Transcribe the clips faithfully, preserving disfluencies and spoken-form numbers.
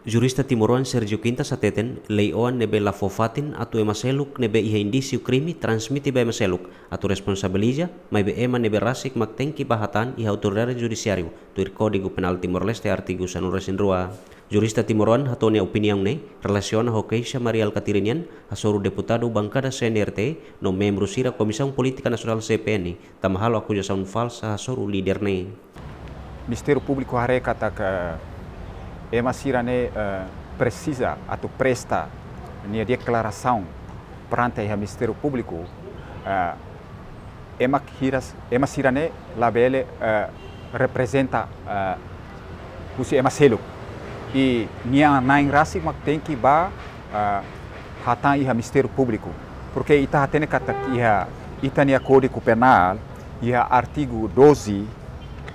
Jurista timoroan Sérgio Quintas hateten, lei-oan ne'ebé la fó fatin atu ema seluk ne'ebé iha indísiu krime transmite ba ema seluk atu responsabiliza, maibé ema ne'ebé rasik mak tenke bá hatán iha autoridade judisiáriu, tuir Kódigu Penál Timor-Leste artigu sanulu-resin-rua. Jurista timoroan hato'o nia opiniaun ne'e relasiona ho keixa Mari Alkatiri nian hasoru deputadu bankada C N R T no membru sira Komisaun Polítika Nasionál C P N, tanba halo akuzasaun falsa hasoru líder ne'e. Ministériu Públiku haree katak ema sira-ne'e, eh, presiza atu presta nia deklarasaun perante iha Ministériu Públiku, eh, ema hiras, ema sira-ne'e labele, eh, reprezenta, eh, husi ema seluk. I nia na'in rasik mak tenke bá, eh, hatán iha Ministériu Públiku. Porke ita hatene katak iha ita-nia Kódigu Penál, iha artigu doze,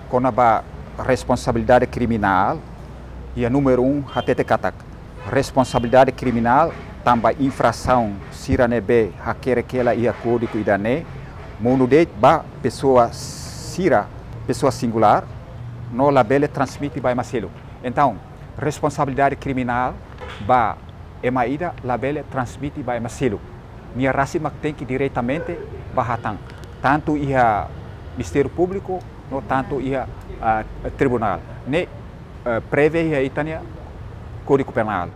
kona-ba responsabilidade kriminál, iha númeru um hatete katak responsabilidade kriminál tanba infrasaun sira ne'ebé hakerek hela iha kódigu ida-ne'e, monu de'it ba pesoa sira, pesoa singulár, no labele transmite ba ema seluk. Entaun, responsabilidade kriminál ba ema ida labele transmite ba ema seluk. Nia rasik mak tenke diretamente bá hatán, tantu iha Ministériu Públiku no tantu iha, ah, tribunál. Ne'e, eh, prevee iha ita-nia Kódigu Penál.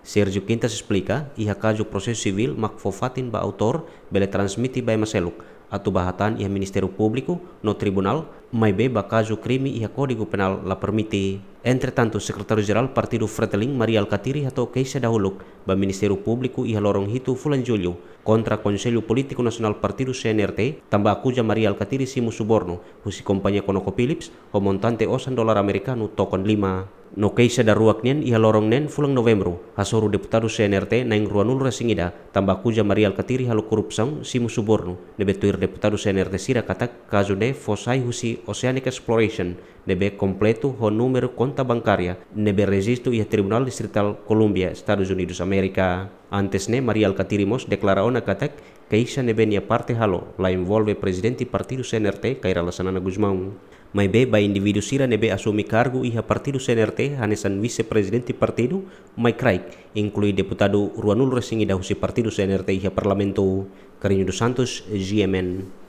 Sérgio Quintas esplika, iha kazu prosesu sivíl mak fó fatin ba autór bele transmite ba ema seluk atu bá hatán iha Ministériu Públiku no tribunál, maibé ba kazu krime iha Kódigu Penál la permite. Entretantu, Sekretáriu-Jerál Partidu Fretilin, Mari Alkatiri, hato'o keixa dahuluk ba Ministériu Públiku iha loron hitu fulan Jullu kontra Konsellu Polítiku Nasionál Partidu C N R T, tanba akuza Mari Alkatiri simu subornu husi kompañia ConocoPhillips ho montante osan dolar amerikanu tokon lima. No keixa daruak nian, iha loron neen fulan Novembru, hasoru deputadu C N R T na'in ruanulu-resin-ida tanba akuza Mari Alkatiri halo korrupsaun simu subornu, ne'ebé tuir deputadu C N R T sira katak kazu ne'e fó sai husi Oceanic Exploration, ne'ebé kompletu ho númeru konta bankária ne'ebé rejistu iha Tribunál Distritál Columbia, Estadus Unidus Amérika. Antes ne'e, Mari Alkatiri mós deklara ona katak keixa ne'ebé nia parte halo la envolve Prezidente Partidu C N R T, Kay Rala Xanana Gusmão. Maibé ba indivíduu sira ne'ebé asume kargu iha Partidu C N R T hanesan vise-prezidente partidu mai kraik, inklui deputadu ruanulu-resin-ida husi Partidu C N R T iha Parlamentu. Carrinho dos Santos, G M N.